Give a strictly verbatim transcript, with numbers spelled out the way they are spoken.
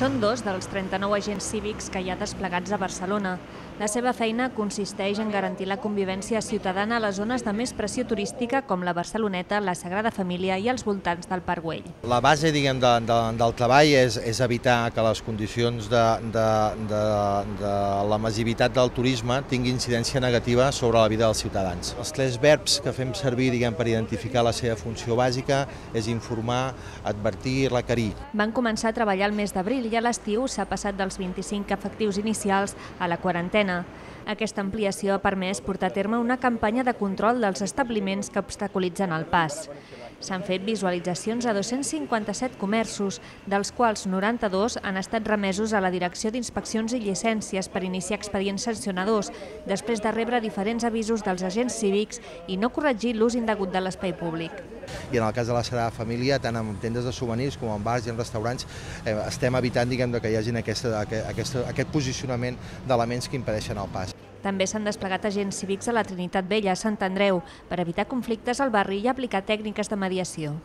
Són dos dels trenta-nou agents cívics que hi ha desplegats a Barcelona. La seva feina consisteix en garantir la convivència ciutadana a les zones de més pressió turística com la Barceloneta, la Sagrada Família i els voltants del Parc Güell. La base diguem, de, de, del treball és, és evitar que les condicions de, de, de, de la massivitat del turisme tingui incidència negativa sobre la vida dels ciutadans. Els tres verbs que fem servir diguem, per identificar la seva funció bàsica és informar, advertir i requerir. Van començar a treballar el mes d'abril i a l'estiu s'ha passat dels vint-i-cinc efectius inicials a la quarantena. Aquesta ampliació ha permès portar a terme una campanya de control dels establiments que obstaculitzen el pas. S'han fet visualitzacions a dos-cents cinquanta-set comerços, dels quals noranta-dos han estat remesos a la Direcció d'Inspeccions i Llicències per iniciar expedients sancionadors, després de rebre diferents avisos dels agents cívics i no corregir l'ús indegut de l'espai públic. I en el cas de la Sagrada Família, tant en tendes de souvenirs com en bars i en restaurants, eh, estem evitant diguem, que hi hagi aquesta, aquesta, aquest posicionament d'elements que impedeixen el pas. També s'han desplegat agents cívics a la Trinitat Vella, a Sant Andreu, per evitar conflictes al barri i aplicar tècniques de mediació.